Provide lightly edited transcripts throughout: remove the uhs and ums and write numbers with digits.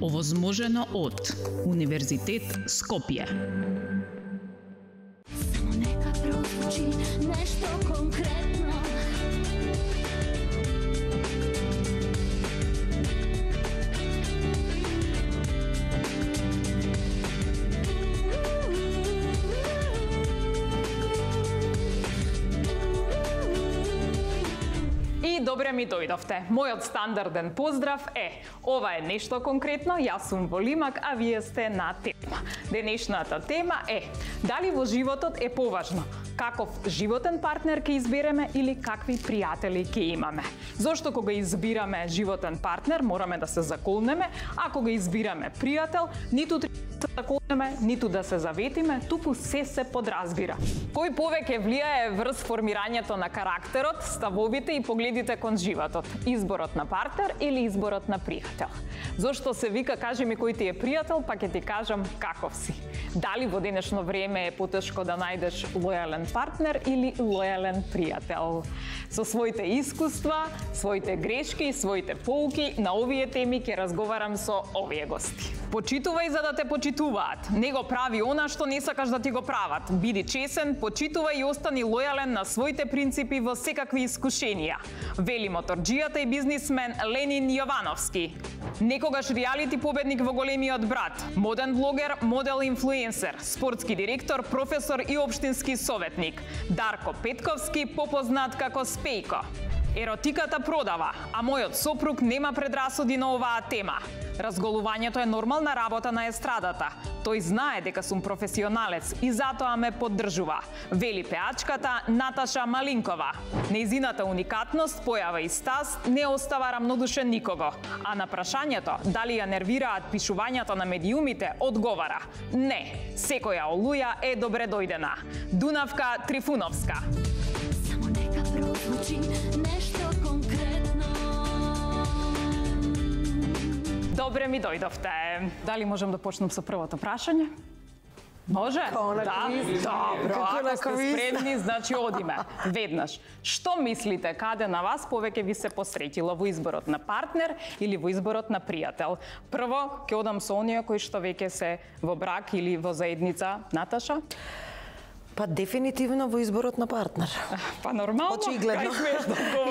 Овозможено од Универзитет Скопје. Само нека прозвучи нешто конкретно. Добре ми дојдовте. Мојот стандарден поздрав е: ова е нешто конкретно, јас сум во Лимак, а вие сте на тема. Денешната тема е: дали во животот е поважно каков животен партнер ќе избереме или какви пријатели ќе имаме? Зошто кога избираме животен партнер мораме да се заколнеме, а кога избираме пријател, ниту да се заколнеме, ниту да се заветиме, туку се подразбира. Кој повеќе влијае врз формирањето на карактерот, ставовите и погледите кон животот? Изборот на партнер или изборот на пријател? Зошто се вика кажи ми кој ти е пријател, па ќе ти кажам каков си. Дали во денешно време е потешко да најдеш лојален партнер или лојален пријател? Со своите искуства, своите грешки и своите поуки на овие теми ќе разговарам со овие гости. Почитувај за да те почитуваат. Не го прави она што не сакаш да ти го прават. Биди чесен, почитувај и остани лојален на своите принципи во секакви искушенија. Вели моторџијата и бизнисмен Ленин Јовановски. Некогаш реалити победник во Големиот брат, моден блогер, модел инфлуенсер, спортски директор, професор и општински советник. Дарко Петковски, попознат како Спејко. Еротиката продава, а мојот сопруг нема предрасуди на оваа тема. Разголувањето е нормална работа на естрадата. Тој знае дека сум професионалец и затоа ме поддржува. Вели пеачката Наташа Малинкова. Нејзината уникатност, појава и стас не остава рамнодушен никого. А на прашањето дали ја нервираат пишувањето на медиумите, одговара: не, секоја олуја е добре дојдена. Дунавка Трифуновска. Само нека прозвучи нешто конкретно. Добре ми дојдовте. Дали можам да почнем со првото прашање? Може? Да. Добро, ако сте спремни, значи одиме. Веднаш. Што мислите, каде на вас повеќе ви се посретило, во изборот на партнер или во изборот на пријател? Прво, ќе одам со оние кои што веќе се во брак или во заедница. Наташа? Па дефинитивно во изборот на партнер. Па нормално. Очигледно.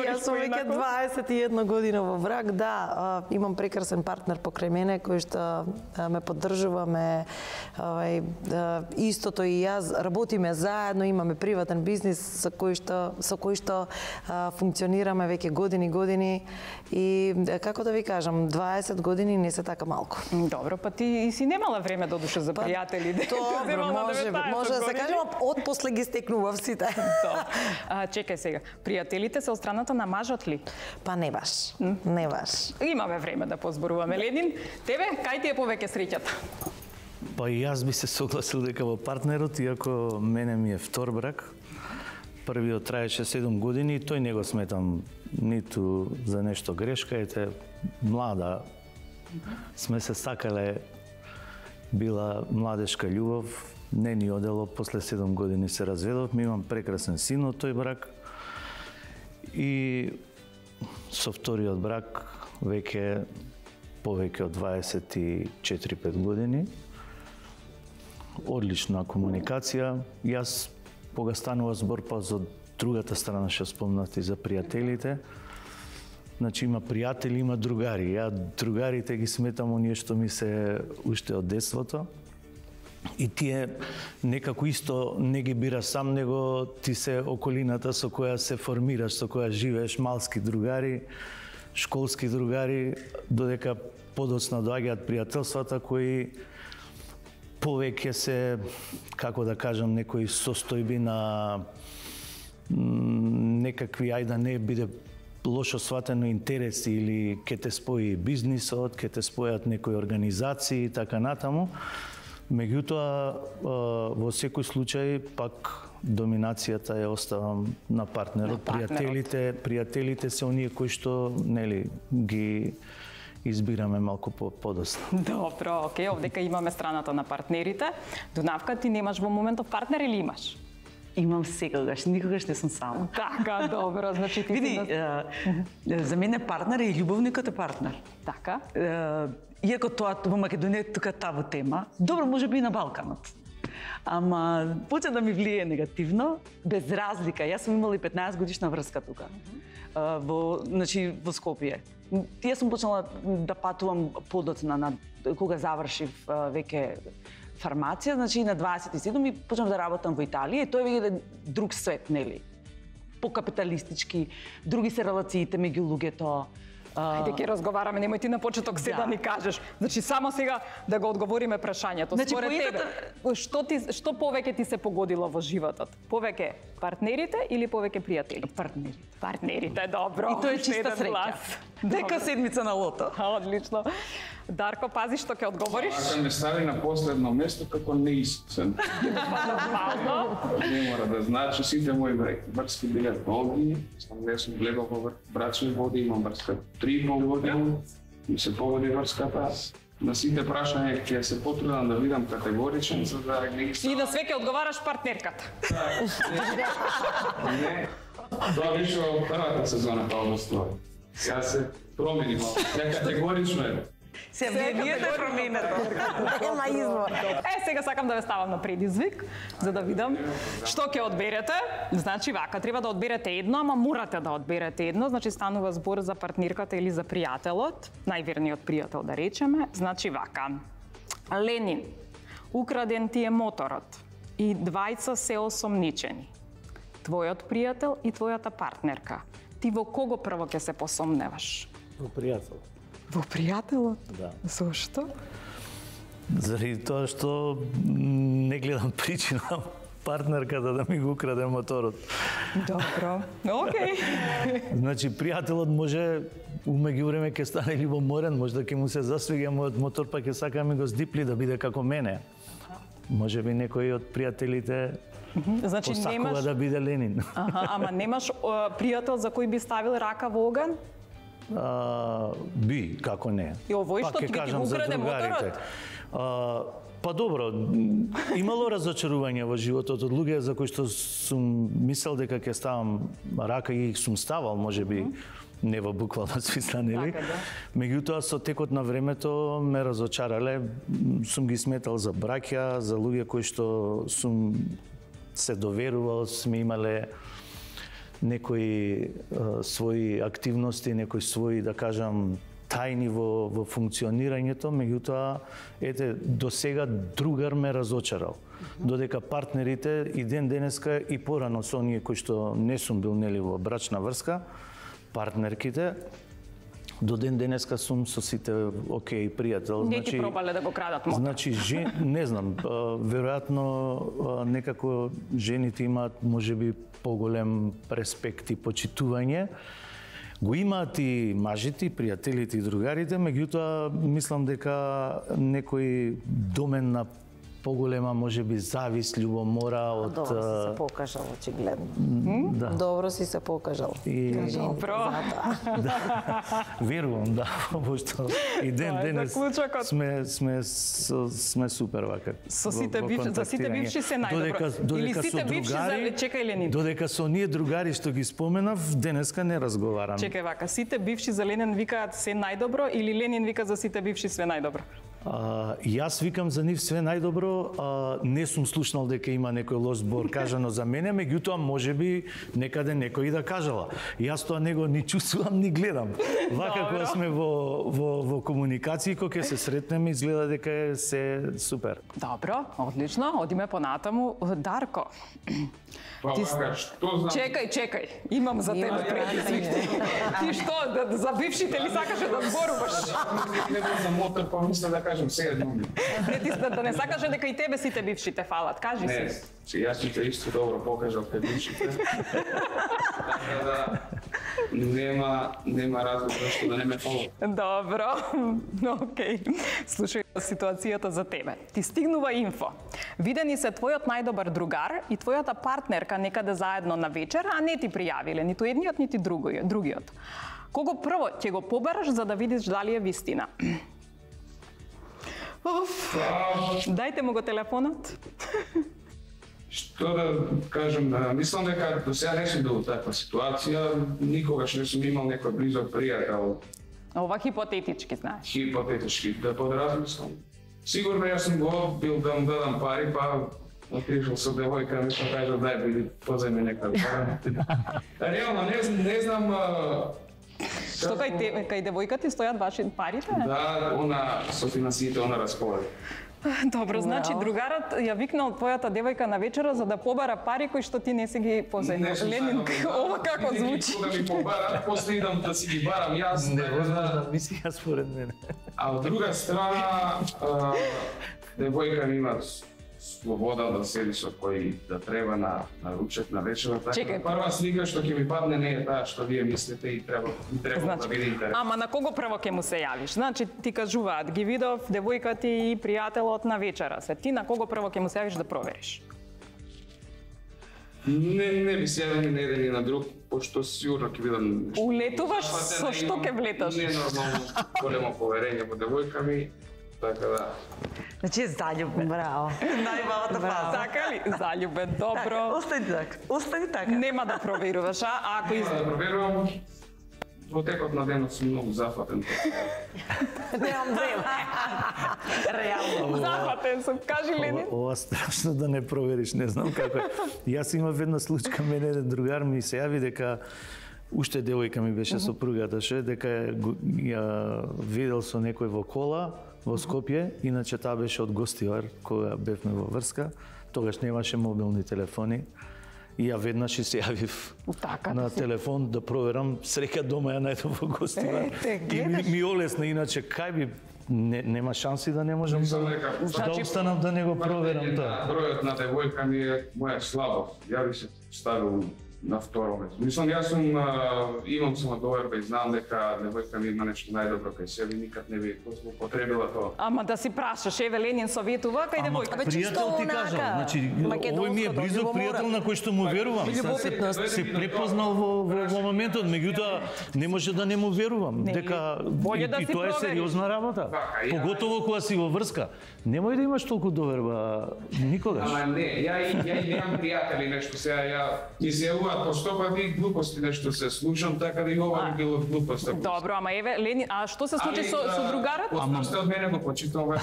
Јас сум веќе 21 година во брак, да, имам прекрасен партнер покрај мене кој што ме поддржува, истото и јас работиме заедно, имаме приватен бизнис со кој што функционираме веќе години и како да ви кажам, 20 години не се така малку. Добро, па ти и си немала време да одуше за пријатели. Добро, може да се каже, од после ги стекнував сите. Чекај сега, пријателите се од страната на мажот ли? Па не баш, не баш. Имаме време да позборуваме. Ленин, тебе, кај ти е повеќе среќата? Па и јас би се согласил дека во партнерот, иако мене ми е втор брак, првиот траеше 7 години и тој не го сметам ниту за нешто грешка, ете, млада сме се сакале, била младешка љубов, не ни одело, после 7 години се разведовме, имам прекрасен син од тој брак и со вториот брак веќе повеќе од 24-5 години. Одлична комуникација. Јас кога станува збор па за другата страна што спомнати за пријателите, значи има пријатели, има другари. Ја другарите ги сметам оние што ми се уште од детството. И тие некако исто не ги бира сам, него ти се околината со која се формираш, со која живееш, малски другари, школски другари, додека подоцна доаѓаат пријателствата кои повеќе се, како да кажам, некои состојби на некакви, ајде да не биде лошо сватено, интереси или ке те спои бизнисот, ке те спојат некои организации и така натаму. Меѓутоа, во секој случај, пак доминацијата ја оставам на партнерот. Пријателите се оние кои што, нели, ги избираме малку подоцна. Добро, окей, овдека имаме страната на партнерите. Дунавка, ти немаш во моментов партнер или имаш? Имам секогаш, никогаш не сум сама. Така, добро, значи ти види, за мене партнер е љубовникот е партнер. Така. иако тоа во Македонија е тука табу тема, добро може би и на Балканот. Ама почна да ми влие негативно, без разлика. Јас сум имала и 15 годишна врска тука. Во Скопје. Јас сум почнала да патувам подоцна кога завршив веќе фармација, значи на 27 и почнав да работам во Италија и тоа е веќе друг свет, нели? По-капиталистички, други се релациите меѓу луѓето. Ајде ќе разговараме, немој ти на почеток се да ни кажеш. Значи само сега да го одговориме прашањето. Значи, Според тебе, што повеќе ти се погодило во животот? Повеќе партнерите или повеќе пријатели? Партнери. Партнерите, добро. И тоа е чиста среќа. Дека седмица на лото. Одлично. Дарко, пази што ќе одговориш. Ако ме стави на последно место како неискусен. Нормално. Не мора да значи, сите мои врски биле долги, не сум гледал во брачни води, имам врска 3,5 години, ми се погоди врската. На сите прашања ќе се потрудам да бидам категоричен, за да не ги И на све ќе одговараш партнерката. Не, тоа беше во првата сезона па обостои. Сега се промени малку, ја категорично е. Се виете променето. Нема избор. Сега сакам да ве ставам на предизвик, за да видам што ќе одберете. Значи вака, треба да одберете едно, ама морате да одберете едно. Значи станува збор за партнерката или за пријателот, најверниот пријател да речеме. Значи вака, Ленин, украден ти е моторот и двајца се осомничени. Твојот пријател и твојата партнерка. Ти во кого прво ќе се посомневаш? Во пријател. Во пријателот? Да. Зошто? Заради тоа што не гледам причина партнерката да ми го украде моторот. Добро. Океј. Значи, пријателот може умеѓу време ќе стане љубоморен, може да ќе му се засвига мојот мотор, па ќе сака ми го здипли да биде како мене. Може би некој од пријателите Значи посакува да биде Ленин. Ама немаш пријател за кој би ставил рака во оган? Би, како не. И овој што Пак ќе ти кажам за украде другарите. моторот? Па добро, имало разочарување во животот од луѓе за кои што сум мислел дека ќе ставам рака и сум ставал, можеби не во буквална смисла, нели? Така, да. Меѓутоа со текот на времето ме разочарале, сум ги сметал за браќа, за луѓе кои што сум се доверувал, сме имале некои своји активности, некои своји, да кажам, тајни во функционирањето, меѓутоа, ете, до сега другар ме разочарал. Додека партнерите и ден денеска и порано со оние кои што не сум бил нели во брачна врска, партнерките, до ден денеска сум со сите окей пријател. Не ти пробале да го крадат мотор? Значи, не знам, веројатно некако жените имаат можеби поголем респект и почитување. Го имаат и мажите, и пријателите и другарите, меѓутоа мислам дека некој домен на поголема можеби завист, љубомора од Добро си се покажал, очигледно. Да. Добро си се покажал. И Добро. верувам да, во што и ден Тоа е денес заклучокот. сме супер вака. Со сите бивши, за сите бивши се најдобро. Или сите бивши за чекај Ленин. Додека со оние другари што ги споменав, денеска не разговарам. Чекај вака, сите бивши за Ленин викаат се најдобро или Ленин вика за сите бивши све најдобро? Јас викам за нив све најдобро, не сум слушнал дека има некој лош збор кажано за мене, меѓутоа можеби некаде некој да кажала. Јас тоа него ни чувствувам, ни гледам. Вака кога сме во комуникација, кога ќе се сретнеме, изгледа дека е се супер. Добро, одлично, одиме понатаму. Дарко, Што знам? чекај, имам за тебе предизвик. Ти што, за бившите ли сакаше да зборуваш? Не за мотор, па мисля да кажам сега други. Не, ти да не сакаше дека и тебе сите бившите фалат, кажи Не, си. јас сите исто добро покажал кај бившите. Така да нема разлог зашто да не ме фала. Добро, окей. Слушај ситуацијата за тебе. Ти стигнува инфо. Видени се твојот најдобар другар и твојата партнерка некаде заедно на вечер, а не ти пријавиле ниту едниот, нити другиот. Кого прво ќе го побераш за да видиш дали е вистина? Уф, дајте му го телефонот. Што да кажам, мислам дека до сега не сум бил во таква ситуација, никогаш не сум имал некој близок пријател Ова хипотетички, знаеш. Хипотетички, да подразмислам. Сигурно јас сум го одбил да му дадам пари, па отишол со девојка, ми кажа дај биди позајме нека пара. Реално не знам Што кај девојка ти стојат ваши парите? Да, она со финансиите она располага. Добро, значи другарот ја викнал твојата девојка на вечера за да побара пари кои што ти не си ги позајмал. Ленин, ова како звучи? Да ми побара, после идам да си ги барам јас. Невозможна мисија според мене. А од друга страна, девојка ми има слобода да седи со кој да треба на ручек, на вечера. Така, прва слика што ќе ми падне не е таа што вие мислите и треба да биде интересно. Ама на кого прво ќе му се јавиш? Значи ти кажуваат, ги видов девојка ти и пријателот на вечера се. Ти на кого прво ќе му се јавиш да провериш? Не би се јавил ни на еден и на друг, пошто сигурно ќе бидам... Улетуваш со што ќе влеташ? Не нормално големо поверење во девојка ми, така да. Значи е заљубен. Браво. Најбавата фаза. Така ли? Заљубен, добро. Остани така. Остани така. Нема да проверуваш, а ако Да проверувам, во текот на денот сум многу зафатен. Немам време. Реално. Зафатен сум, кажи Ленин. Ова страшно да не провериш, не знам како е. Јас имав една случка, мене еден другар ми се јави дека уште девојка ми беше сопругата, дека ја видел со некој во кола во Скопје, иначе таа беше од гостивар кога бевме во врска, тогаш немаше мобилни телефони. И ја веднаш и се јавив на телефон да проверам, среќа дома ја најдов во гостивар. И ми олесна, иначе кај би нема шанси да не можам да обстанам да не го проверам тоа. Бројот на девојка ми е моја слабост. Ја би се ставил на второ место. Мислам, јас сум имам самодоверба и знам дека девојка ми има нешто најдобро кај себе, никад не би злоупотребила тоа. Ама да си прашаш, еве Ленин советува кај девојка. Пријател ти кажа, значи овој ми е близок пријател на кој што му верувам. Се препознал во моментот, меѓутоа не може да не му верувам, дека и тоа е сериозна работа. Поготово кога си во врска. Немој да имаш толку доверба никогаш. Ама не, ја немам пријатели нешто сега, ја ми се постопати глупости нешто се слушам, така да и ова би било глупост. Добро, ама еве Ленин, а што се случи со другарот? После од мене го почитам ова.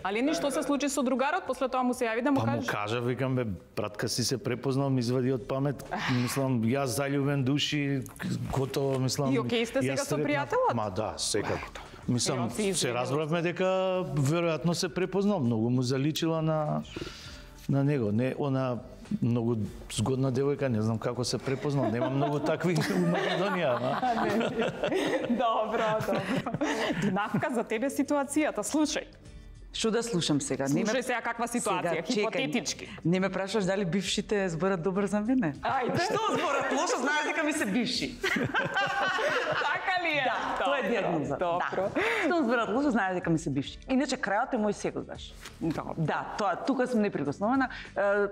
А Ленин, што се случи со другарот? После тоа му се јави да му кажеш? Па му кажа, викам бе, братка си се препознал, ми извади од памет. Мислам, јас заљубен души, готово, мислам. И окей сте сега со пријателот? Ма да, секако. Мислам, се разбравме дека веројатно се препознал, многу му заличила на него. Не, она многу згодна девојка, не знам како се препознал, нема многу такви у Македонија, Добро. Динавка за тебе ситуацијата, слушај. Што да слушам сега? Слушај сега каква ситуација, хипотетички. Не ме прашуваш дали бившите зборат добро за мене? Ајде. Што зборат лошо, знаеш дека ми се бивши. Така ли е? Да, тоа е диагноза. Добро. Што зборат лошо, знаеш дека ми се бивши. Иначе крајот е мој секогаш. Да, тоа тука сум неприкосновена.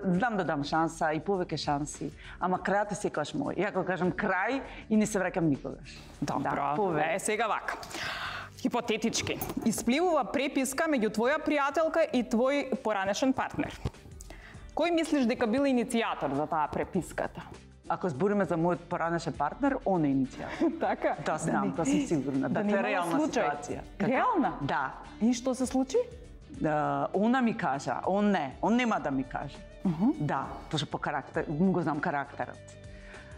Знам да дам шанса и повеќе шанси, ама крајот е секогаш мој. Ја кога кажам крај и не се враќам никогаш. Добро. Сега вака. Хипотетички, испливува преписка меѓу твоја пријателка и твој поранешен партнер. Кој мислиш дека бил иницијатор за таа преписката? Ако збориме за мојот поранешен партнер, он е иницијатор. Така? Да, знам, тоа сум сигурна. Да, тоа е реална ситуација. Реална? Да. И што се случи? Она ми кажа, он нема да ми каже. Да, пошто по карактер, му го знам карактерот.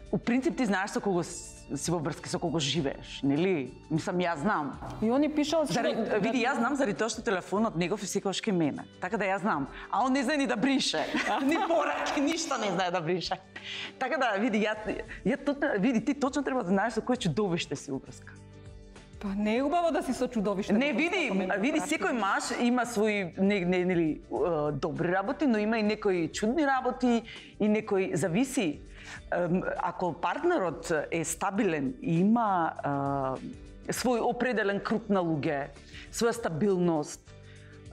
У принцип ти знаеш со кого си во врски, со кого живееш, нели? Мислам, јас знам. И они пишал што... Види, јас знам заради тоа што телефонот негов е секогаш кај мене. Така да јас знам. А он не знае ни да брише. Ни пораки, ништо не знае да брише. Така да, види, види, ти точно треба да знаеш со кој чудовиште си во врска. Па не е убаво да си со чудовиште. Не, види, секој маж има свои нели добри работи, но има и некои чудни работи и некои зависи. Ако партнерот е стабилен и има свој определен круг на луѓе, своја стабилност,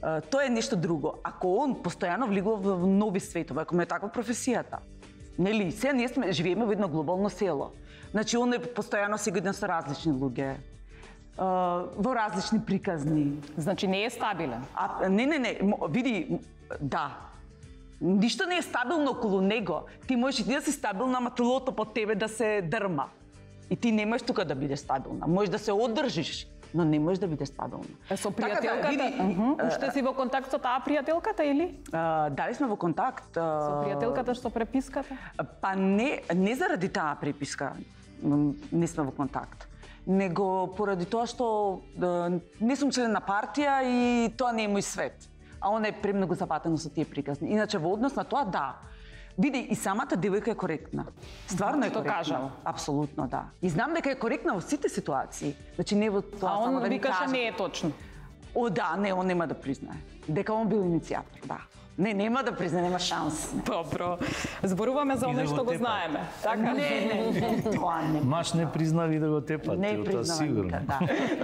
тоа е нешто друго. Ако он постојано влегува во нови светови, ако му е таква професијата, нели, сега ние живееме во едно глобално село. Значи, он е постојано сегоден со различни луѓе, во различни приказни. Значи не е стабилен. Не, види, да. Ништо не е стабилно околу него. Ти можеш и ти да си стабилна, ама телото под тебе да се дрма. И ти немаш тука да бидеш стабилна. Можеш да се одржиш но не можеш да бидеш стабилна. Со Така да, пријателката? види, Уште си во контакт со таа пријателката или? Дали сме во контакт? Со пријателката што преписката? Па не заради таа преписка не сме во контакт, него поради тоа што не сум член на партија и тоа не е мој свет. А она е премногу запатено со тие приказни. Иначе во однос на тоа, да. Види, и самата девојка е коректна. Стварно е Што коректна. кажа? Апсолутно, да. И знам дека е коректна во сите ситуации. Значи не во тоа А само он да ми викаше каже. не е точно. О, да, не, он нема да признае. Дека он бил иницијатор, да. Не, нема да признае, нема шанс. Добро. Зборуваме за И да оно го што го тепа. знаеме. Така? Не, тоа не. Маш не признави да го тепат, Не тоа признавам сигурно. никад, да.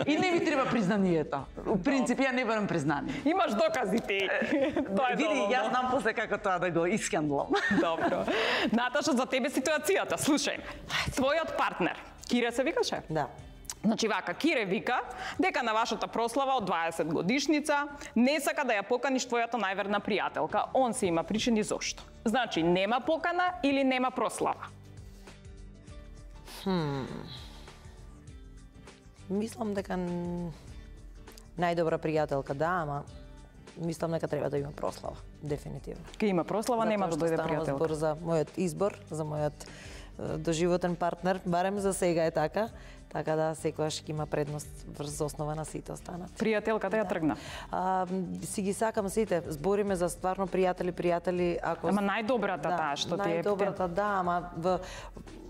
И не ми треба признанието. У принцип, ја не барам признание. Имаш докази ти. Тоа е Види, доволно. јас знам после како тоа да го исхендлам. Добро. Наташа, за тебе ситуацијата. Слушај. Твојот партнер, Кире се викаше? Да. Значи вака, Кире вика дека на вашата прослава од 20 годишница не сака да ја поканиш твојата најверна пријателка. Он се има причини зошто. Значи, нема покана или нема прослава? Мислам дека најдобра пријателка, да, ама мислам дека треба да има прослава, дефинитивно. Ке има прослава, нема да дојде станува пријателка. збор за мојот избор, за мојот доживотен партнер, барем за сега е така. Така да секогаш ќе има предност врз основа на сите останати. Пријателката ја тргна. Си ги сакам сите, збориме за стварно пријатели, ако Ама најдобрата таа што ти е. најдобрата, да, ама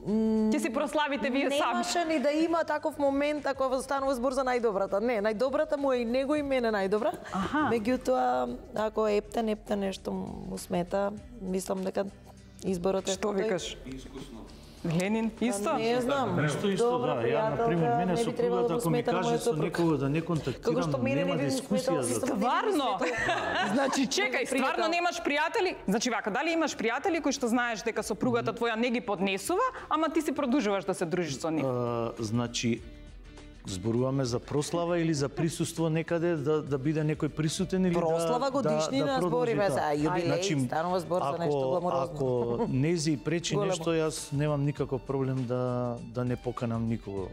Ќе си прославите вие сами. немаше ни да има таков момент ако станува збор за најдобрата. Не, најдобрата му е и него и мене најдобра. Меѓутоа, ако ептен нешто му смета, мислам дека изборот е Што тој. викаш? Ленин исто? Не знам. Исто, Добра да. Ја, например, пријателка, мене не би требало сопругата, да ако ми смета на каже мојот со сопруг. некого да не Како што контактирам, мене нема не би дискусија сметало за со тоа. Стварно? Значи, чекај, стварно Пријател. немаш пријатели? Значи вака, дали имаш пријатели кои што знаеш дека сопругата твоја не ги поднесува, ама ти си продолжуваш да се дружиш со нив? Значи, зборуваме за прослава или за присуство некаде, да биде некој присутен или Прослава годишнина продолжи збориме тоа. за јубилеј, станува збор за нешто гламурозно. Ако нези пречи Големо. нешто, јас немам никаков проблем да не поканам никого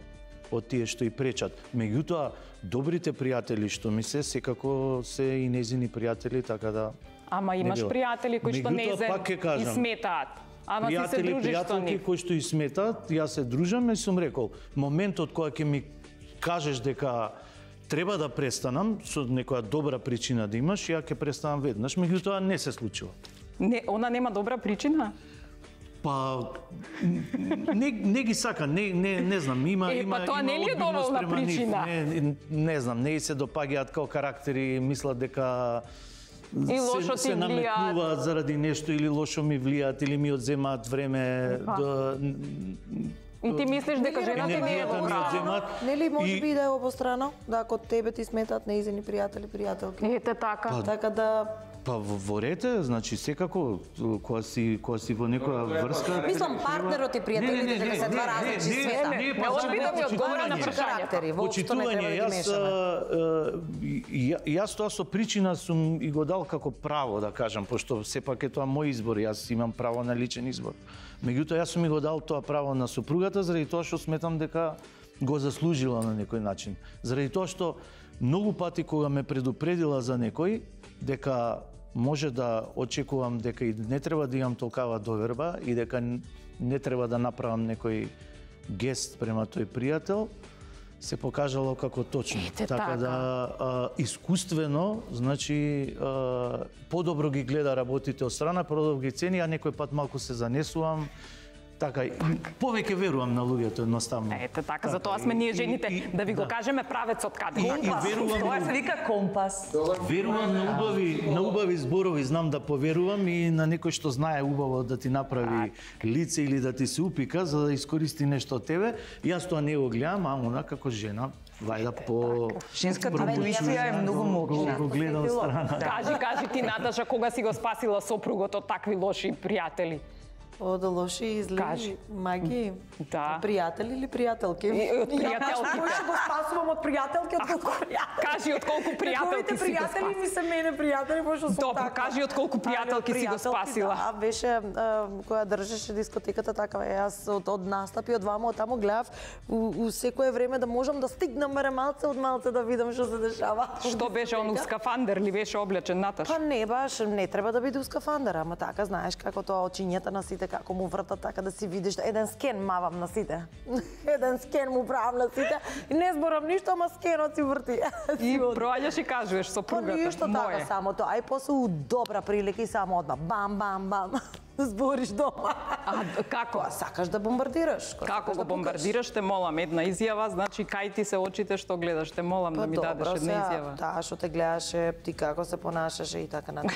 од тие што и пречат. Меѓутоа, добрите пријатели што ми се, секако се и незини пријатели, така да... Ама имаш било. пријатели кои што Меѓутоа, не пак ќе и кажам, сметаат. Ама ти се пријатели, дружиш со пријателки нив. кои што и сметаат, јас се дружам и сум рекол, моментот кога ќе ми кажеш дека треба да престанам, со некоја добра причина да имаш, ја ќе престанам веднаш, меѓутоа не се случува. Не, она нема добра причина? Па не ги сака, не знам, има па тоа не ли е одбивност доволна према нив. причина? Не знам, не и се допаѓаат како карактери, мислат дека И лошо ти се влијаат. наметнуваат заради нешто или лошо ми влијаат или ми одземаат време И ти мислиш дека жената не е енергијата ми добра? одземаат. Нели може И- би да е обострано, да ако тебе ти сметаат неизени пријатели, пријателки. Ете така. Така да Па во рете, значи секако кога си во некоја врска. мислам партнерот и пријателите дека се два различни света. не, опит да ми одговори на прашањето. Карактери, воопшто не треба да ги мешаме. Јас тоа со причина сум и го дал како право, да кажам, пошто сепак е тоа мој избор, јас имам право на личен избор. Меѓутоа, јас сум и го дал тоа право на сопругата, заради тоа што сметам дека го заслужила на некој начин. Заради тоа што многу пати кога ме предупредила за некој, дека може да очекувам дека и не треба да имам толкава доверба и дека не треба да направам некој гест према тој пријател, се покажало како точно. така. Да искуствено, значи подобро ги гледа работите од страна, подобро ги цени, а некој пат малку се занесувам. Така, повеќе верувам на луѓето едноставно. Ете така, затоа сме ние жените, да ви го кажеме правецот каде. И верувам Тоа се вика компас. Верувам на убави зборови, знам да поверувам и на некој што знае убаво да ти направи лице или да ти се упика за да искористи нешто од тебе. Јас тоа не го гледам, а она како жена вајда по Женската интуиција е многу мокна. го гледа од страна. Кажи ти, Наташа, кога си го спасила сопругот од такви лоши пријатели? Од лоши и зли Кажи. маги. Да. Пријатели или пријателки? Од пријателките. Ја го спасувам од пријателки, од колку пријателки. Кажи од колку пријателки си го пријатели спасила. ми се мене пријатели, пошто сум Добро, така. кажи од колку пријателки си го спасила. Да, беше која држеше дискотеката такава. Јас од настапи од вама, од таму гледав у секое време да можам да стигнам барем малце од малце да видам што се дешава. Што беше он у скафандер или беше облечен Наташ? Па не баш, не треба да биде у скафандер, ама така знаеш како тоа очињата на сите како му вртат така да си видиш еден скен мавам на сите. Еден скен му правам на сите и не зборам ништо, ама скенот си врти. И проаѓаш и кажуваш Па сопругата. ништо така Моје. само тоа, ај после у добра прилика и само одма бам бам бам. Збориш дома. А како? Сакаш да бомбардираш. Како го бомбардираш, те молам една изјава, значи кај ти се очите што гледаш, те молам да ми дадеш една изјава. Таа што те гледаше, ти како се понашаше и така натаму.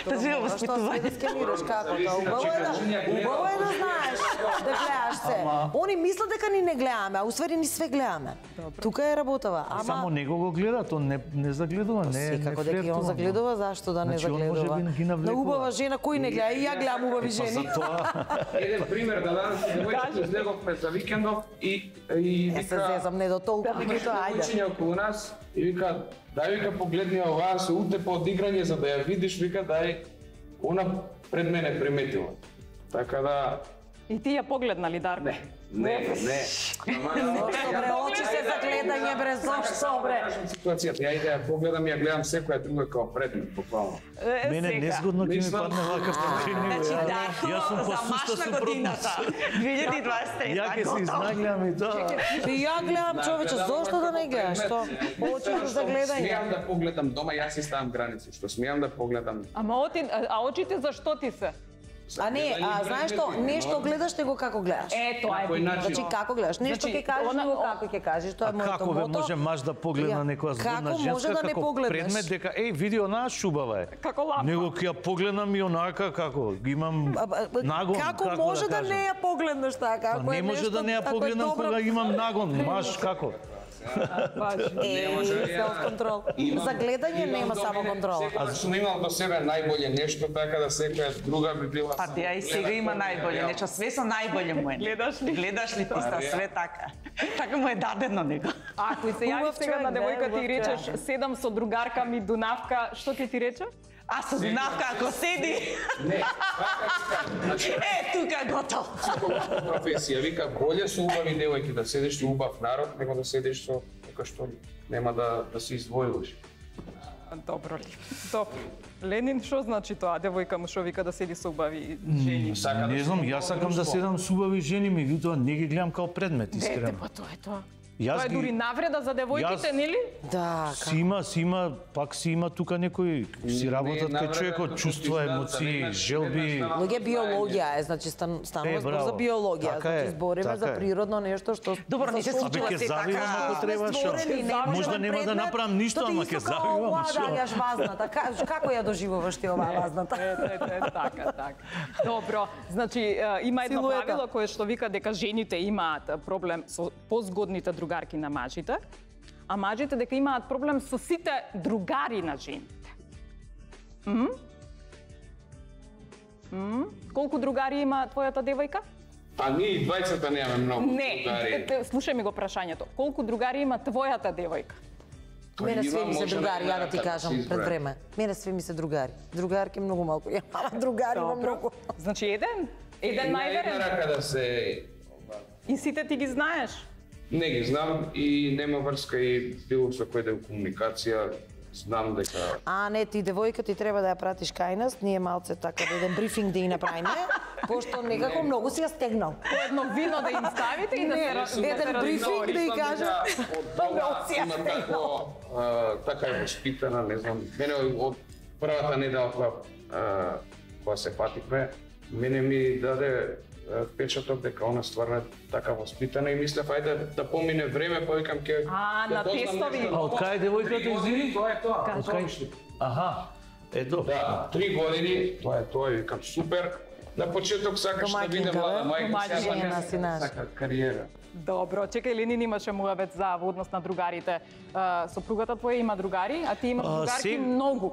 Да живе воспитување. Што да скенираш како тоа? Убаво е да знаеш да гледаш се. Они мислат дека ни не гледаме, а усвари ни све гледаме. Тука е работава. Само него го гледа, тоа не загледува, не секако дека и он загледува, зашто да не Значи, он може загледува? би ги На навлекува. убава жена кој не гледа? И ја гледам убави жени. Еден пример да дадам, девојчето излеговме за викендов и Не се зезам, не до толку, меѓутоа ајде. учење околу нас и вика, дај вика погледни оваа се утепа од играње за да ја видиш, вика дај она пред мене приметила. Така да И ти ја погледна ли, Дарко? не. Добре, очи се за гледање бре, зошто бре? Ситуацијата, ја иде ја погледам и ја гледам секоја друга као предмет, буквално. Мене незгодно ќе ми Мислам- падне вака прашање. Значи, Дарко, Јас сум за посуста машна супротно. годината. 2023. Ја ќе се изнагледам и тоа. И ја гледам човече, зошто да не гледаш? Што? Очи за гледање. Смеам да погледам дома, јас си ставам граници, што смеам да погледам. А очите зашто ти се? А не, знаеш што, нешто гледаш него како гледаш. Тоа На кој начин? Значи како гледаш, нешто Значи, ќе кажеш, она- него како ќе кажеш, тоа е А моето како бе мото. може маж да погледна некоја згодна Како може женска да не како погледнеш? предмет дека види онаа шубава е. Како лапа. Него ќе ја погледнам и онака како ги имам нагон. Како може да кажам? не ја погледнеш така? Па Ако не е може нешто, да не ја ако е погледнам добро- кога имам нагон, маж како? може, ја- селф-контрол. За гледање нема само контрола. Секогаш сум имал до себе најболje нешто, така да секоја друга би била. Па ја и сега има најболje, нечо све со најболje му е. Гледаш ли? Гледаш ли ти ста све така? Така му е дадено него. Ако и се јавиш Убав сега на човек, девојка убав ти речеш човек. седам со другарка ми Дунавка, што ќе ти рече? А со Дунавка ако седи, Не, значи, тука готов. професија, вика, боле со убави девојки да седиш со убав народ, него да седиш со некој што нема да се издвојуваш. Добро ли? Добро. Ленин, што значи тоа? Девојка му што вика да седи со убави жени? Сака Не да знам, се јас сакам да друштво. седам со убави жени, меѓутоа не ги гледам као предмет, Дете, искрено. па тоа е тоа. Јас Тоа е ги- дури навреда за девојките, Јас- нели? Да, Си има, пак си има тука некои, си работат кај човекот, чувства, емоции, желби. луѓе биологија е, значи станува збор браво. за биологија, Така е, значи збориме така за е. природно нешто што Добро, не се за што- случува Абе, ќе се завивам така. ако треба, сме шо? створени, не Можда можеме нема да предмет, направам ништо, тоа ти ама исто ќе како завивам, оваа шо? даѓаш вазната. Како ја доживуваш ти оваа вазната? Така, така. Добро, значи има едно Силуета. правило кое што вика дека жените имаат проблем со позгодните другарки на мажите, а мажите дека имаат проблем со сите другари на жените. Колку другари има твојата девојка? Па ние и двајцата немаме многу Не, другари. слушај ми го прашањето. Колку другари има твојата девојка? Мене све Има, ми се може другари, да ја да ти се кажам изброи. пред време. Мене све ми се другари. Другарки многу малку. Ја мама другари има многу. Значи еден? Еден На една најверен? рака да се И сите ти ги знаеш? не ги знам и нема врска и било со кој да е комуникација, знам дека А не, ти девојка ти треба да ја пратиш кај нас, ние малце така да еден брифинг да и направиме, пошто некако многу си ја стегнал. По едно вино да им ставите и да Не, се еден брифинг да и кажа. од дома има тако, така е воспитана, не знам. Мене од првата недела кога се пативме, мене ми даде впечаток дека она стварно е така воспитана и мислев ајде да помине време, па викам ќе А, на тестови. А од кај девојката извини? Тоа е тоа. Од кај? Аха. Ето. Да, 3 години, тоа е тоа, викам супер. На почеток сакаш да биде Домаќинка, млада бе? мајка, Домаќинка. сега сака кариера. Добро, чекај, Ленин имаше муавет за однос на другарите. Сопругата твоја има другари, а ти имаш другарки многу.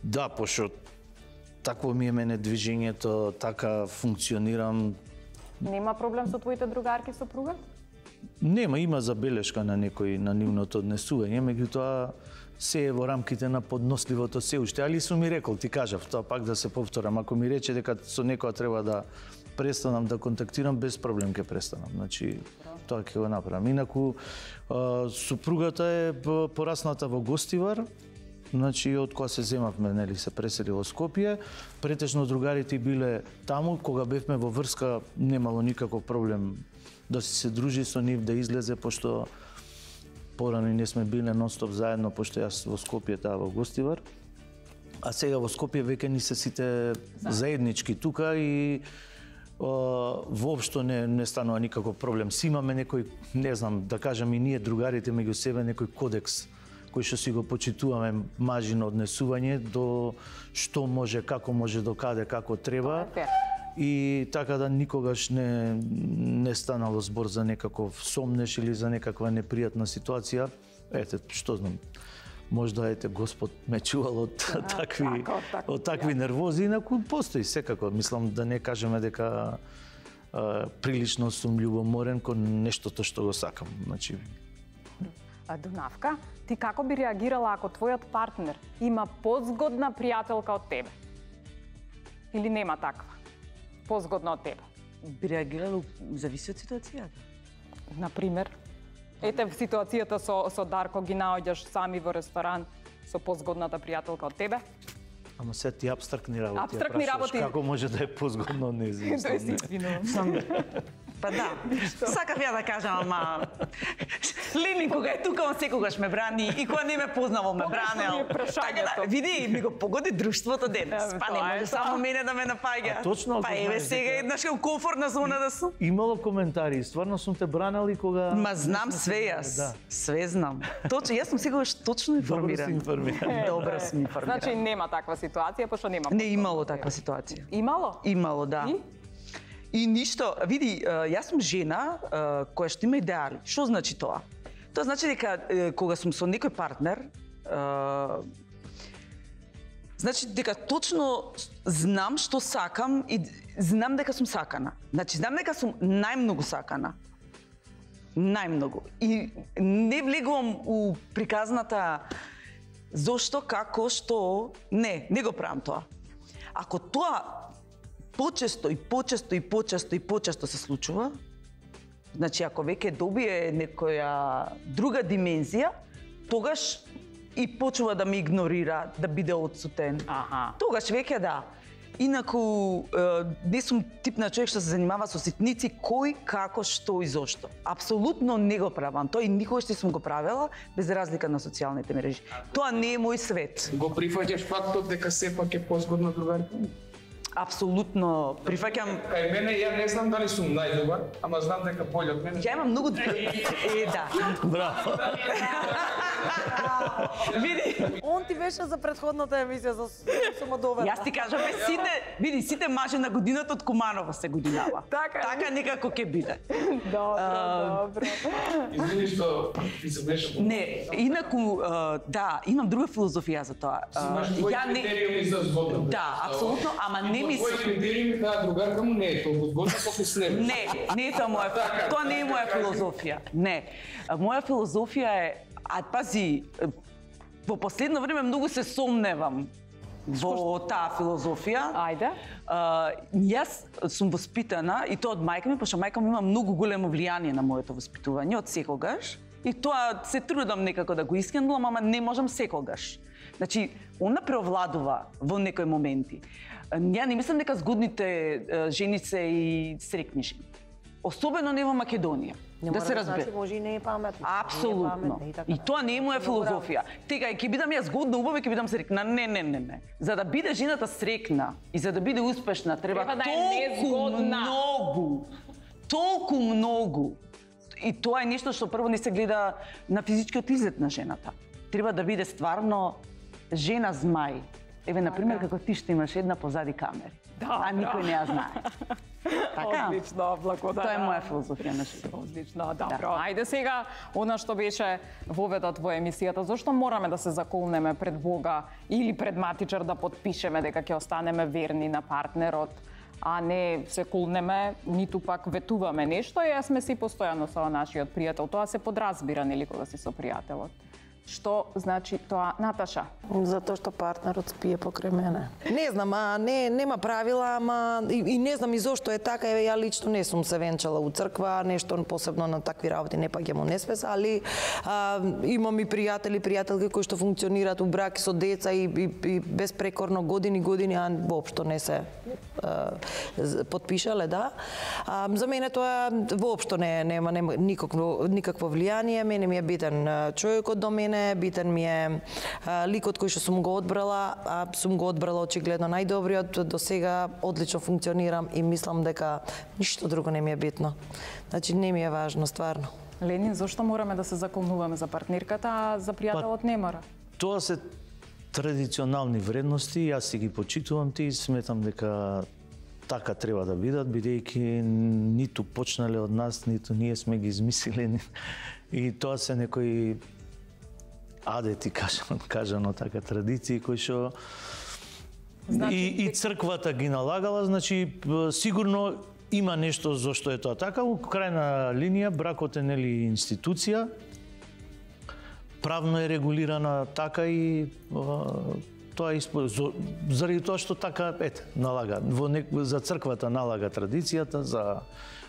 Да, пошто такво ми е мене движењето, така функционирам. Нема проблем со твоите другарки сопруга? Нема, има забелешка на некој на нивното однесување, меѓутоа се е во рамките на подносливото се уште, али сум ми рекол, ти кажав, тоа пак да се повторам, ако ми рече дека со некоја треба да престанам да контактирам, без проблем ќе престанам. Значи, тоа ќе го направам. Инаку, супругата е порасната во Гостивар, значи, од кога се земавме, нели, се пресели во Скопје, претежно другарите биле таму, кога бевме во врска, немало никаков проблем да се дружи со нив, да излезе, пошто порано и не сме биле нон-стоп заедно, пошто јас во Скопје, таа во Гостивар. А сега во Скопје веќе ни се сите заеднички тука и воопшто не станува никаков проблем. Си имаме некој, не знам, да кажам и ние другарите меѓу себе, некој кодекс кој што си го почитуваме мажино однесување до што може, како може, до каде, како треба. И така да никогаш не станало збор за некаков сомнеш или за некаква непријатна ситуација. Ете, што знам, можда ете Господ ме чувал од такви нервози, инаку постои секако. Мислам да не кажеме дека прилично сум љубоморен кон нештото што го сакам. Значи, Дунавка, ти како би реагирала ако твојот партнер има позгодна пријателка од тебе? Или нема таква? Позгодна од тебе? Би реагирала, зависи од ситуацијата. Например, ете ситуацијата со Дарко ги наоѓаш сами во ресторан со позгодната пријателка од тебе? Ама се ти абстрактни работи. Абстрактни работи. Како може да е позгодно од нејзин? Тоа се извинувам. Па да, сакав ја да кажам, ама Лени кога е тука, он секогаш ме брани и кога не ме познавал ме бранел. Така, види, ми го погоди друштвото денес. Па не може само мене да ме напаѓа. Точно, па еве сега еднаш во комфортна зона да сум. Имало коментари, стварно сум те бранали кога... Ма знам све јас. Да. Све знам. Точно, јас сум секогаш точно информиран. Добро сум информиран. Значи нема таква ситуација, пошто нема. Не имало таква ситуација. Имало? Имало, да. И ништо, види, јас сум жена која што има идеали. Што значи тоа? Тоа значи дека кога сум со некој партнер, значи дека точно знам што сакам и знам дека сум сакана. Значи знам дека сум најмногу сакана. Најмногу. И не влегувам у приказната зошто, како, што, не го правам тоа. Ако тоа почесто се случува, значи ако веќе добие некоја друга димензија, тогаш и почува да ме игнорира, да биде отсутен. Тогаш веќе да. Инаку не сум тип на човек што се занимава со ситници, кој, како, што и зошто. Апсолутно не го правам. Тоа и никогаш не сум го правела, без разлика на социјалните мрежи. Тоа не е мој свет. Го прифаќаш фактот дека сепак е позгодна другарка? Апсолутно прифаќам. Кај мене ја не знам дали сум најдобар, ама знам дека боле од мене. Ја имам многу да. Браво. Види. Он ти беше за претходната емисија за самодоверба. Јас ти кажам, сите мажи на годината од Куманово се годинава. Така некако ќе биде. Добро. Извини што ти се беше. Не, инаку да, имам друга филозофија за тоа. Ја не критериуми за згодна. Да, апсолутно, ама не ми Твој критериум таа другарка му не е толку згодна колку с него. Не е тоа моја, тоа не е моја филозофија. Не. Моја филозофија е, пази, во последно време многу се сомневам во таа филозофија. Ајде. Јас сум воспитана и тоа од мајка ми, пошто мајка ми има многу големо влијание на моето воспитување од секогаш. И тоа се трудам некако да го искендувам, ама не можам секогаш. Значи, она преовладува во некои моменти. Ја не мислам дека згодните жени се и срекни жени. Особено не во Македонија. Да се разбере. Значи може и не е паметно. Апсолутно. И тоа не е моја филозофија. Тега ќе бидам ја згодна, убава ќе бидам срекна. Не. За да биде жената срекна и за да биде успешна треба да е незгодна. Толку многу. И тоа е нешто што прво не се гледа на физичкиот изглед на жената. Треба да биде стварно жена змај. Еве, например, како ти што имаш една позади камери. а никој не ја знае. Така? Одлично, благодарам. Тоа е моја филозофија на живот. Одлично, добро. Ајде сега, она што беше воведот во емисијата, зошто мораме да се заколнеме пред Бога или пред матичар да подпишеме дека ќе останеме верни на партнерот, а не се колнеме, ниту пак ветуваме нешто, и сме си постојано со нашиот пријател. Тоа се подразбира, нели, кога си со пријателот. Што значи тоа, Наташа? Затоа што партнерот спие покрај мене. Не знам, нема правила, ама и не знам и зошто е така. Еве, ја лично не сум се венчала у црква, нешто посебно на такви работи не паѓам у несвес, али имам и пријателки кои што функционираат у браки со деца и безпрекорно години, а воопшто не се потпишале, да. За мене тоа воопшто нема никакво влијание. Мене ми е битен човекот до мене, битен ми е ликот кој што сум го одбрала, а сум го одбрала очигледно најдобриот. До сега одлично функционирам и мислам дека ништо друго не ми е битно. Значи не ми е важно стварно. Ленин, зошто мораме да се заколнуваме за партнерката, а за пријателот не мора? Тоа се традиционални вредности, јас си ги почитувам тие и сметам дека така треба да бидат, бидејќи ниту почнале од нас, ниту ние сме ги измислили. И тоа се некои адети, кажано така, традиции кои што и црквата ги налагала, значи сигурно има нешто зошто е тоа така. У крајна линија бракот е нели институција, правно е регулирана така и тоа заради тоа што така налага за црквата налага традицијата, за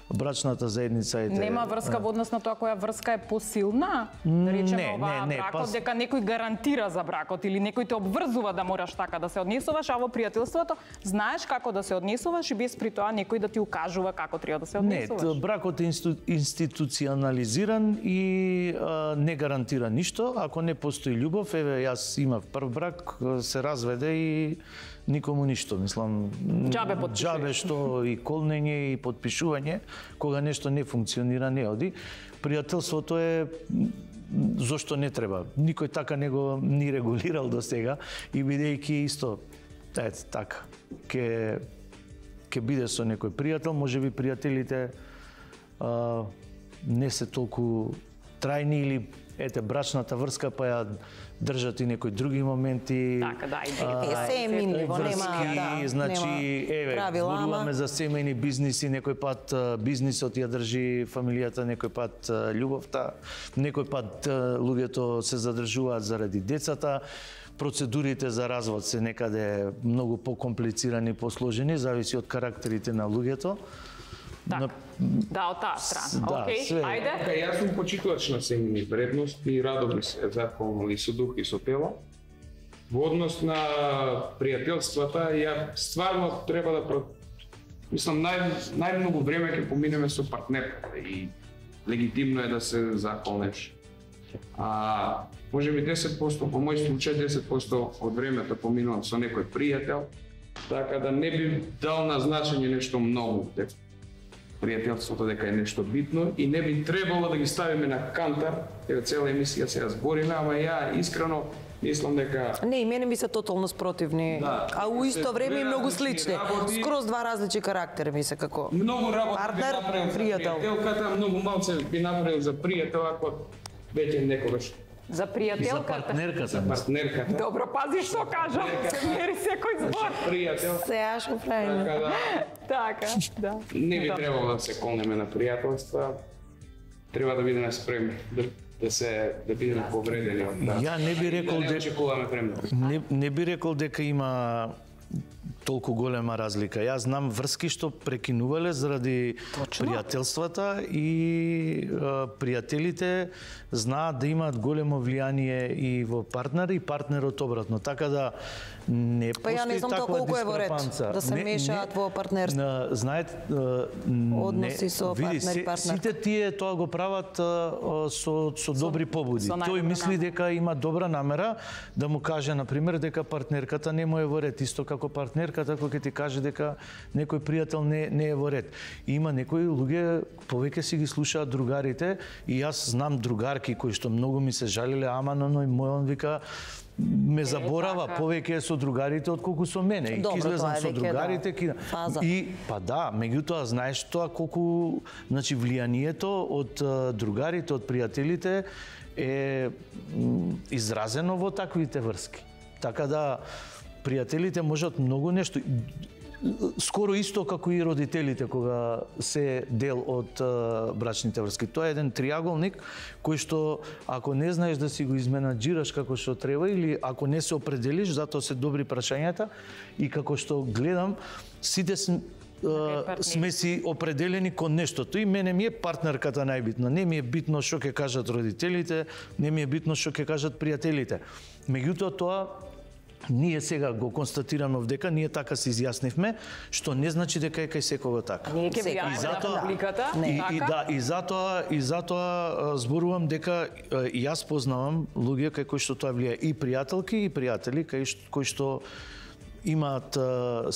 брачната заедница е. Нема врска во однос на тоа која врска е посилна? Да речеме бракот, дека некој гарантира за бракот или некој те обврзува да мораш така да се однесуваш, а во пријателството знаеш како да се однесуваш и без при тоа некој да ти укажува како треба да се однесуваш. Не, бракот е институционализиран и не гарантира ништо. Ако не постои љубов, еве јас имав прв брак, се разведе и никому ништо, мислам, џабе што и колнење и подпишување, кога нешто не функционира, не оди. Пријателството е зошто не треба. Никој така не го ни регулирал до сега и бидејќи исто така ќе биде со некој пријател, можеби пријателите не се толку трајни или брачната врска па ја држат и некои други моменти. Така, да, се е минливо, нема, значи, зборуваме за семејни бизниси, некој пат бизнисот ја држи фамилијата, некој пат љубовта, некој пат луѓето се задржуваат заради децата. Процедурите за развод се некаде многу покомплицирани, посложени, зависи од карактерите на луѓето. Да, од таа страна. Океј, ајде. Јас сум почитувач на семејни вредности и радо би се заколнал и со дух и со тело. Во однос на пријателствата, ја стварно треба да мислам најмногу време ќе поминеме со партнерката и легитимно е да се заколнеш. Можеби 10%, по мој случај 10% од времето поминувам со некој пријател, така да не би дал на значење нешто многу. Пријателството дека е нешто битно и не би требало да ги ставиме на кантар, еве цела емисија се збориме, ама ја искрено мислам дека не, и мене ми се тотално спротивни, а у исто време и многу слични. Скроз два различни карактери ми се како многу работа партнер, пријател. Пријателката многу малце би направил за пријател ако веќе некогаш. За пријателката. За партнерката. Добро, пази што кажам. Се мери секој збор. Пријател. Се ашо правиме. Така, да. Не би требало да се колнеме на пријателства. Треба да бидеме спремни да бидеме повредени од таа. Ја не би рекол дека има толку голема разлика. Јас знам врски што прекинувале заради пријателствата и пријателите знаат да имаат големо влијание и во партнер и партнерот обратно. Така да не постои таква дискрепанца. Па ја не знам колку е во ред да се мешаат во партнерство. Знаете, односи со партнер и партнер. Сите тие тоа го прават со добри побуди. Тој мисли дека има добра намера да му каже на пример дека партнерката не му е во ред, исто како партнерката кога ти каже дека некој пријател не е во ред. И има некои луѓе повеќе си ги слушаат другарите и јас знам другарки кои што многу ми се жалеле, ама мој вика ме заборава повеќе со другарите отколку со мене. И Добро, излезам тоа е со веќе, другарите, фаза. и па да, меѓутоа знаеш тоа колку значи влијанието од другарите, од пријателите е изразено во таквите врски. Така да пријателите можат многу нешто, скоро исто како и родителите кога се дел од брачните врски. Тоа е еден триаголник кој што ако не знаеш да си го изменаџираш како што треба или ако не се определиш, затоа се добри прашањата и како што гледам сите сме си определени кон нештото и мене ми е партнерката најбитна. Не ми е битно што ќе кажат родителите, не ми е битно што ќе кажат пријателите. Меѓутоа тоа ние сега го констатираме овдека, ние така се изјаснивме, што не значи дека е кај секого така. Ние ќе влијаме на публиката, И затоа зборувам дека и јас познавам луѓе кај кои што тоа влија и пријателки и пријатели кои што имаат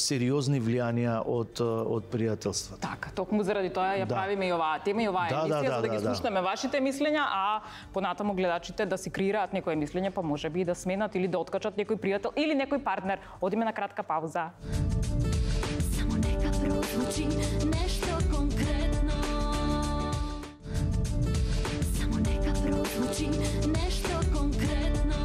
сериозни влијанија од пријателството. Така, токму заради тоа ја правиме и оваа тема и оваа емисија за да ги слушнеме вашите мислења, а понатаму гледачите да си креираат некое мислење, па можеби и да сменат или да откачат некој пријател или некој партнер. Одиме на кратка пауза. Само нека прозвучи нешто конкретно. Само нека прозвучи нешто конкретно.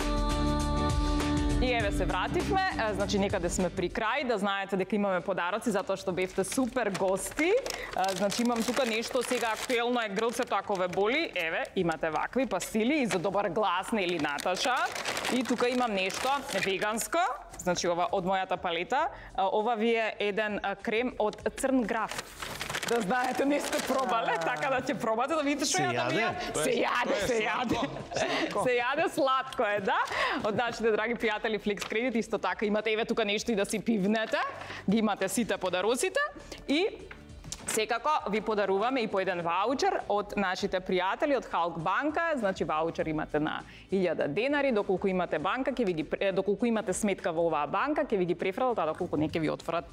И еве се вративме, значи некаде сме при крај, да знаете дека имаме подароци затоа што бевте супер гости. Значи имам тука нешто сега актуелно е грлцето ако ве боли. Еве, имате вакви пастили и за добар глас, нели Наташа. И тука имам нешто веганско, значи ова од мојата палета. Ова ви е еден крем од црн граф. Да знаете, не сте пробале, така да ќе пробате да видите што ја да се јаде сладко е, да? Од нашите драги пријатели Flex Credit исто така имате еве тука нешто и да си пивнете, ги имате сите подароците и секако ви подаруваме и по еден ваучер од нашите пријатели од Халк банка, значи ваучер имате на 1000 денари, доколку имате банка, ќе ви ги доколку имате сметка во оваа банка, ќе ви ги префрлат, а доколку не ќе ви отворат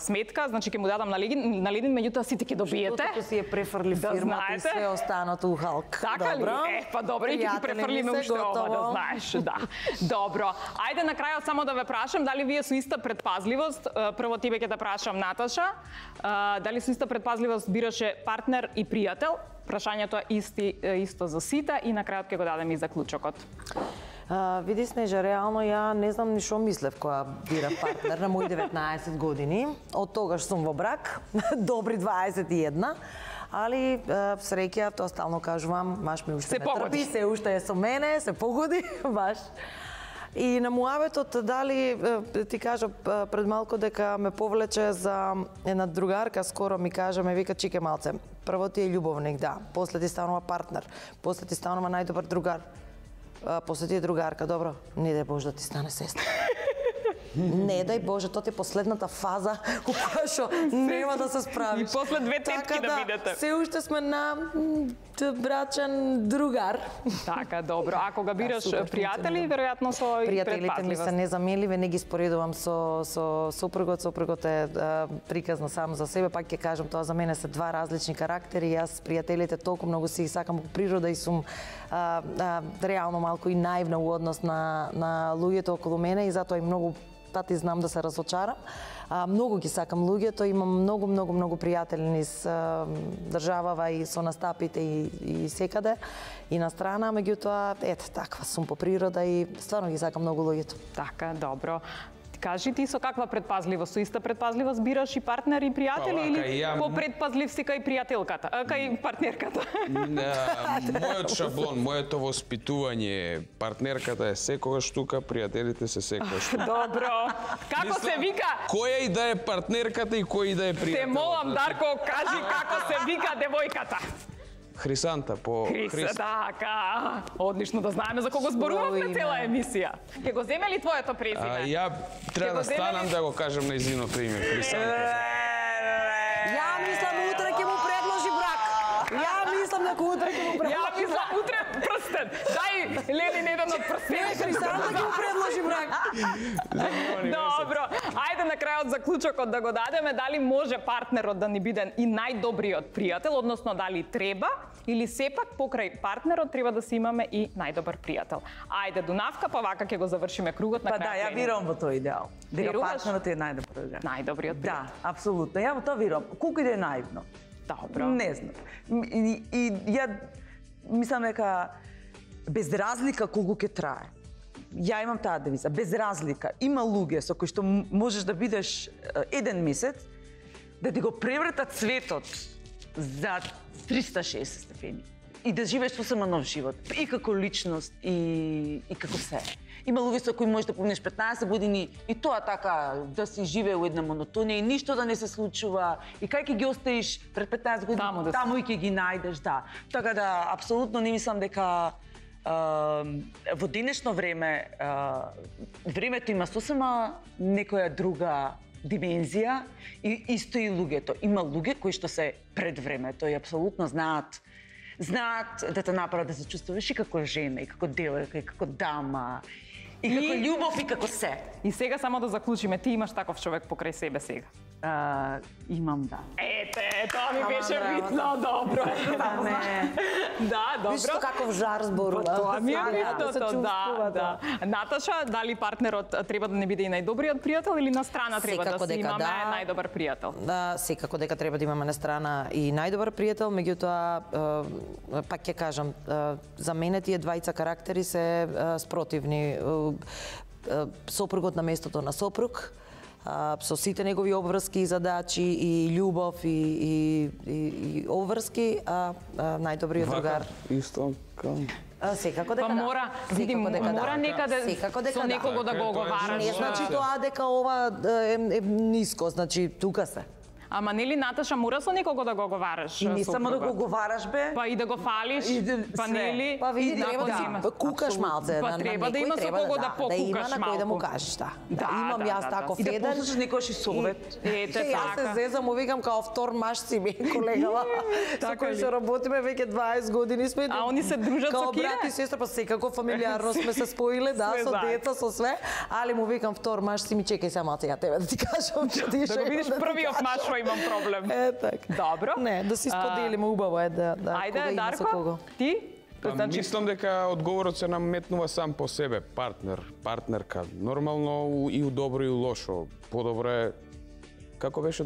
сметка, значи ќе му дадам на Ленин, меѓутоа сите ќе добиете. Што си ја префрли фирмата и све останато у Халк. Така ли? Па добро, и ќе ти префрлиме уште ова, да знаеш, да. Добро. Ајде на крајот само да ве прашам дали вие со иста предпазливост, прво тебе ќе те прашам Наташа, дали со иста предпазливост бираше партнер и пријател? Прашањето е исто за сите и на крајот ќе го дадем и заклучокот. Види Снежа, реално ја не знам ни што мислев кога бира партнер на мои 19 години. Од тогаш сум во брак, добри 21. Али среќа, тоа стално кажувам, маш ми уште ме трпи, се уште е со мене, се погоди, баш. И на муабетот дали ти кажа пред малку дека ме повлече за една другарка, скоро ми кажа, ме вика чике малце. Прво ти е љубовник, да, после ти станува партнер, после ти станува најдобар другар. После ти е другарка, добро, не дај Боже да ти стане сестра. Не дај Боже, тоа ти е последната фаза у која што нема да се справиш. И после две тетки да видите. Се уште сме на брачен другар. Така, добро. А кога бираш пријатели, веројатно со пријателите ми се незаменливи, не ги споредувам со сопругот. Сопругот е приказна сам за себе, пак ќе кажам, тоа за мене се два различни карактери. Јас пријателите толку многу си сакам по природа и сум реално малку и наивна у однос на луѓето околу мене и затоа и многу пати знам да се разочарам. Многу ги сакам луѓето, имам многу пријатели низ државава и со настапите и секаде и на страна, меѓутоа ете таква сум по природа и стварно ги сакам многу луѓето. Така, добро. Кажи ти со каква предпазливост, со иста предпазливост бираш и партнер и пријатели или попредпазлив си кај пријателката, кај партнерката? Мојот шаблон, моето воспитување, партнерката е секогаш тука, пријателите се секогаш тука. Добро. Како се вика? Која и да е партнерката и кој и да е пријател. Те молам, Дарко, кажи како се вика девојката. Хрисанта по Христа. Така. Одлично да знаеме за кого зборуваме цела емисија. Ќе го земе ли твоето презиме? Ја треба да станам да го кажам нејзиното име, Хрисанта. Ја мислам утре ќе му предложи брак. Ја мислам дека утре ќе му предложи. Ја мислам утре прстен. Дај Ленин еден од прстените. Хрисанта ќе му предложи брак. Добро. Ајде на крајот заклучокот да го дадеме, дали може партнерот да ни биде и најдобриот пријател, односно дали треба или сепак покрај партнерот треба да си имаме и најдобар пријател. Ајде Дунавка, па вака ќе го завршиме кругот на крајот. Па да, ја верувам во тој идеал. Дека Веруваш? партнерот е најдобриот. Најдобриот пријател. Да, апсолутно. Ја во тоа верувам. Колку и да е наивно. Добро. Не знам. И ја мислам дека без разлика колку ќе трае. Ја имам таа девиза, без разлика. Има луѓе со кои што можеш да бидеш еден месец, да ти го превртат светот за 360 степени. И да живееш сосема нов живот. И како личност, и како се. Има луѓе со кои можеш да поминеш 15 години и тоа така да си живее во една монотонија и ништо да не се случува. И кај ќе ги оставиш пред 15 години, таму и ќе ги најдеш, да. Така да, апсолутно не мислам дека во денешно време времето има сосема некоја друга димензија и исто и луѓето. Има луѓе кои што се пред времето и апсолутно знаат да те направат да се чувствуваш и како жена, и како девојка, и како дама, и како љубов, и како се. И сега само да заклучиме, ти имаш таков човек покрај себе сега. Имам, да. Ете, тоа ми беше битно, добро. Да, добро. Вишто каков жар зборува. Тоа ми е битното, да. Наташа, дали партнерот треба да не биде и најдобриот пријател или на страна треба да си имаме најдобар пријател? Да, секако дека треба да имаме на страна и најдобар пријател, меѓутоа пак ќе кажам, за мене тие двајца карактери се спротивни. Сопругот на местото на сопруг, со сите негови обврски и задачи и љубов и обврски, најдобриот другар. Исто као Секако дека Па мора, видим, мора некаде со некого да го оговараш. Не значи тоа дека ова е ниско, значи тука се. Ама нели Наташа мора со некого да го оговараш? И не само да го оговараш, бе. Па и да го фалиш, па нели? Па види, треба да кукаш малце. Па треба да има со кого да покукаш малку. Да има на кој да му малку. кажеш, да. Имам јас таков И да еден. послушаш некојаш и совет. Ете Јас се така. зезам, му викам као втор маж си ми колегава, со кој што работиме веќе 20 години сме. А они се дружат со као Кире? брат и сестра, па секако фамилиарно сме се споиле, да, Све со заедно. деца, со све, али му викам втор маж си ми, чекај сега малце ја тебе да ти кажам, што ти Да го видиш првиот маж што имам проблем. така. Добро. Не, да си споделиме, убаво е да кога Ајде, има со кого. Дарко, ти? Па, мислам дека одговорот се наметнува сам по себе. Партнер, партнерка. Нормално и у добро и у лошо. Подобро е како беше,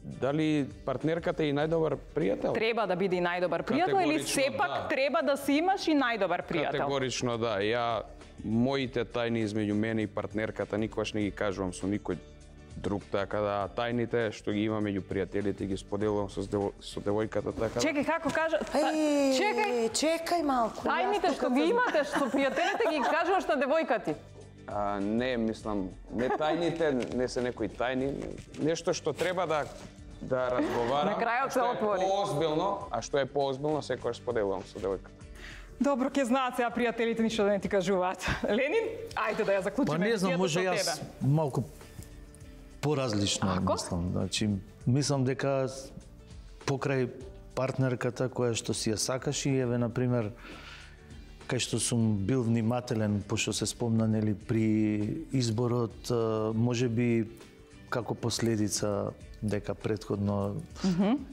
дали партнерката е и најдобар пријател? Треба да биде и најдобар пријател или Категорично, сепак да. треба да си имаш и најдобар пријател? Категорично да. Ја моите тајни измеѓу мене и партнерката никогаш не ги кажувам со никој друг, така да тајните што ги имам меѓу пријателите ги споделувам со девојката, така да. Чекај, како кажа? Чекај, Чекај малку. тајните што ги имате со пријателите ги кажуваш на девојка ти. Не, мислам, не тајните, не се некои тајни, нешто што треба да разговарам. На крајот се отвори. Поозбилно, а што е поозбилно, секогаш споделувам со девојката. Добро, ќе знаат сега пријателите ништо да не ти кажуваат. Ленин, ајде да ја заклучиме. Па не знам, емисијата може со јас тебе. малку поразлично Ако? мислам. Значи, мислам дека покрај партнерката која што си ја сакаш и еве на пример кај што сум бил внимателен, пошто се спомна нели при изборот, можеби како последица дека претходно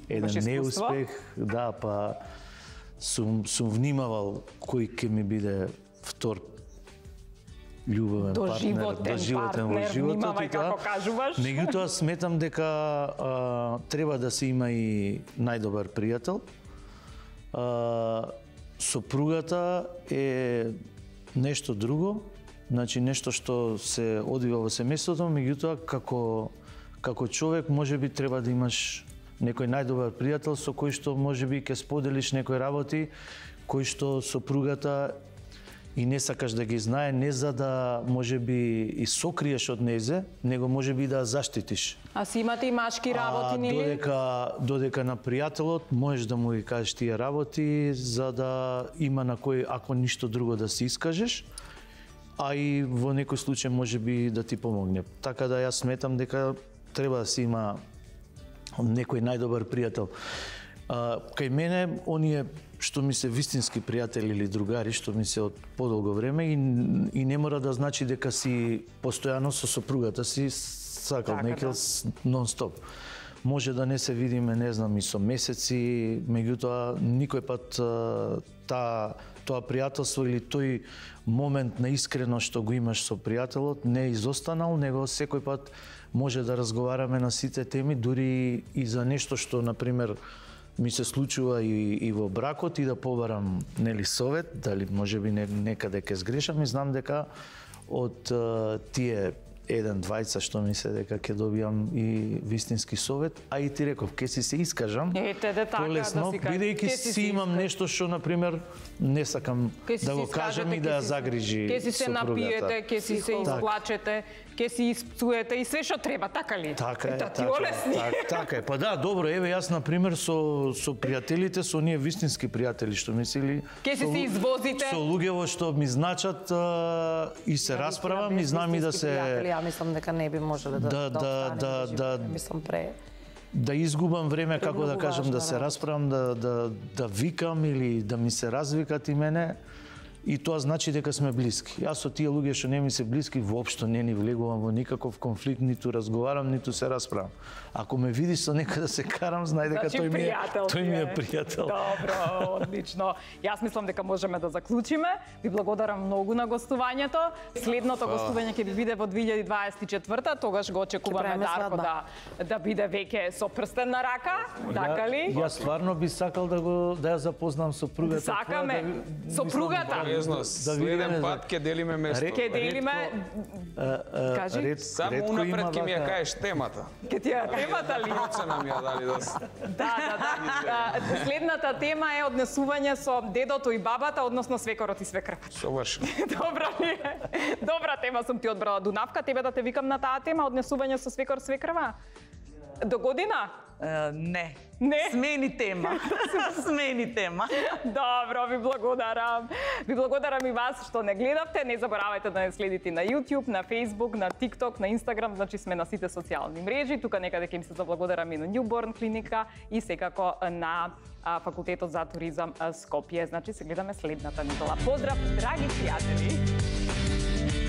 еден Имаш искуство? неуспех, да, па сум внимавал кој ќе ми биде втор љубовен партнер, Доживотен партнер, внимавај како кажуваш. Меѓутоа сметам дека треба да се има и најдобар пријател. Сопругата е нешто друго, значи нешто што се одвива во семејството, меѓутоа како човек можеби треба да имаш некој најдобар пријател со кој што можеби ќе споделиш некои работи кои што сопругата и не сакаш да ги знае, не за да можеби и сокриеш од незе, него можеби да заштитиш. А си имате и машки работи, нели? Додека на пријателот можеш да му ги кажеш тие работи за да има на кој, ако ништо друго да се искажеш, а и во некој случај можеби да ти помогне. Така да јас сметам дека треба да се има некој најдобар пријател. Кај мене, оние што ми се вистински пријатели или другари, што ми се од подолго време и не мора да значи дека си постојано со сопругата си сакал, некел нон-стоп. Може да не се видиме, не знам, и со месеци, меѓутоа никој пат тоа пријателство или тој момент на искрено што го имаш со пријателот не е изостанал, него секој пат може да разговараме на сите теми, дури и за нешто што, например, ми се случува и во бракот и да побарам нели совет, дали можеби некаде ќе сгрешам и знам дека од тие еден-двајца што ми се дека ќе добијам и вистински совет, а и ти реков ќе си се искажам. Полесно, бидејќи си имам нешто што на пример не сакам да го кажам и да ја загрижи сопругата. Ќе си се напиете, ќе си се изплачете, ќе си испцуете и све што треба, така ли? Така е, така е. Па да, добро, еве јас на пример со пријателите, со оние вистински пријатели што мислили, ќе си се извозите со луѓето што ми значат и се расправам и знам и да се ја мислам дека не би можеле да мислам да изгубам време, како да кажам, да се расправам, да викам или да ми се развикат и мене. И тоа значи дека сме блиски. Јас со тие луѓе што не ми се блиски, воопшто не ни влегувам во никаков конфликт, ниту разговарам, ниту се расправам. Ако ме видиш со некој да се карам, знај дека тој ми е пријател. Добро, одлично. Јас мислам дека можеме да заклучиме. Ви благодарам многу на гостувањето. Следното гостување ќе ви биде во 2024, тогаш го очекуваме Дарко да биде веќе со прстен на рака, така ли? Јас стварно би сакал да ја запознам сопругата. Сакаме сопругата. Следен пат ќе делиме место. Ќе делиме. Кажи. Само унапред ќе ми ја кажеш темата. Ќе ти ја темата ли? Процена ми ја дали Да. Следната тема е однесување со дедото и бабата, односно свекорот и свекрвата. Совршено. Добра ли е? Добра тема сум ти одбрала, Дунавка. Тебе да те викам на таа тема, однесување со свекор свекрва? До година? Не. Не? Смени тема. Смени тема. Добро, ви благодарам. Ви благодарам и вас што не гледавте. Не заборавајте да не следите на YouTube, на Facebook, на TikTok, на Instagram, значи сме на сите социјални мрежи. Тука некаде ќе ми се заблагодарам и на Newborn клиника и секако на Факултетот за туризам Скопје. Значи се гледаме следната недела. Поздрав, драги пријатели!